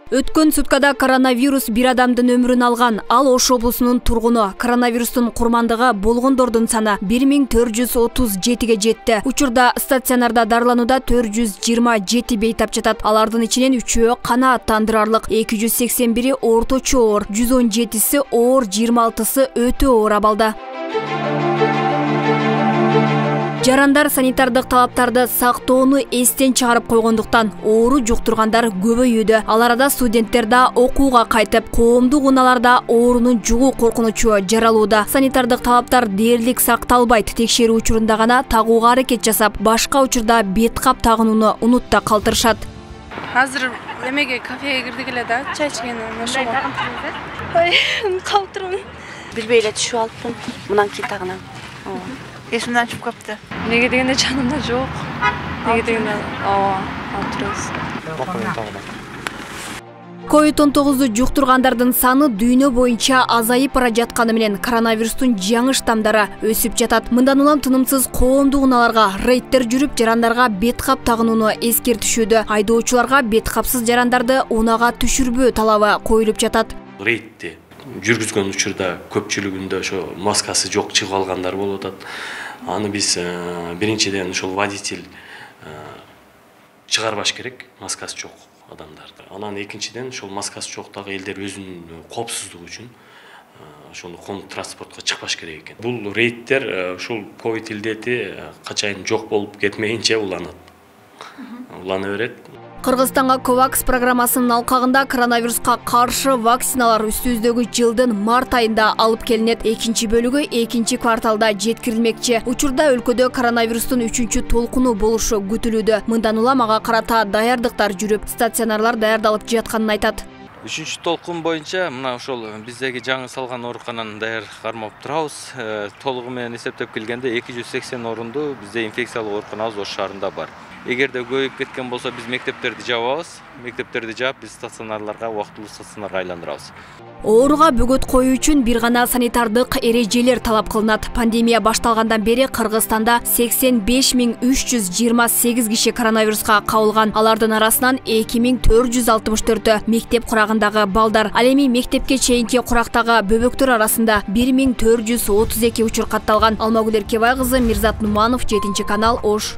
Өткөн суткада коронавирус бир адамдын өмүрүн алган. Ал Ош облусунун тургуну. Коронавирустун курмандыгы болгондордун саны 1437ге жетти. Учурда стационарда дарыланууда 427 бейтап жатат. Алардын ичинен 3-өө канааттандырарлык, 281-и орточо оор, 117-си оор, 26-сы өтө оор абалда. Жарандар санитардык талаптарды сактоону эстен чыгарып койгондуктан оору жуктургандар көбөйүүдө. Ал арада студенттер да окууга кайтып, коомдук унааларда оорунун жугуу коркунучу жаралууда. Санитардык талаптар дээрлик сакталбайт. Текшерүү учурунда гана тагууга аракет жасап, башка учурда бет кап тагынууну унутта калтырышат. Азыр эмеге кафеге кирдик эле да, чай ичкен ошого. Ой, калтырмын. Билбей эле түшүп алыппын. Мындан кийин тагынам. Эсимден чыгып калыптı. Неге дегенде жанымда жок. Неге дегенде алып турабыз. COVID-19 жуктургандардын саны дүйнө боюнча азайып бара жатканы менен коронавирустун жаңы штамдары өсүп жатат. Мындан улам тынымсыз коомдук унааларга рейдтер жүрүп, жарандарга бет кап тагынууну эскертишүүдө. Айдоочуларга бет капсыз жарандарды унаага түшүрбөө талабы коюлуп жатат. Рейдти жүргүзгөн учурда көпчүлүгүндө ошо маскасы жок чыгып алгандар болуп атат. Аны биз биринчиден ошол водитель чыгарбаш керек, маскасы жок адамдарды. Анан экинчиден ошол маскасы жоктагы элдер өзүнүн коопсуздугу үчүн ошондо коомдук транспортко чыкпаш керек экен. Бул рейдтер ушул ковид илдети качайын жок болуп кетмейинче улана берет. Кыргызстанга Ковакс программасынын алкагында коронавируска каршы вакциналар үстүбүздөгү жылдын март айында алып келинет. Экинчи бөлүгү экинчи кварталда жеткирилмекчи. Учурда өлкөдө коронавирустун 3-чү толкуну болушу күтүлүүдө. Мындан улам ага карата даярдыктар жүрүп, стационарлар даярдалып жатканын айтат. 3-чү толкун боюнча мына ошол биздеги жаңы салган оорукананы даяр кармап турабыз. Толугу менен эсептеп келгенде 280 орунду бизде инфекциялык ооруканабыз Ош шаарында бар. Эгерде көбөйүп кеткен болсо биз мектептерди жабабыз. Мектептерди жаап биз стационарларга, убактылуу стационарга айландырабыз. Ооруга бөгөт коюу үчүн бир гана санитардык эрежелер талап кылынат. Пандемия башталгандан бери Кыргызстанда 85.328 киши коронавируска кабылган. Алардын арасынан 2464 мектеп курагындагы балдар. Ал эми мектепке чейинки курактагы бөбөктөр арасында 1432 учур катталган. Алмагүл Эркебай кызы, Мирзат Нуманов, 7 канал, Ош.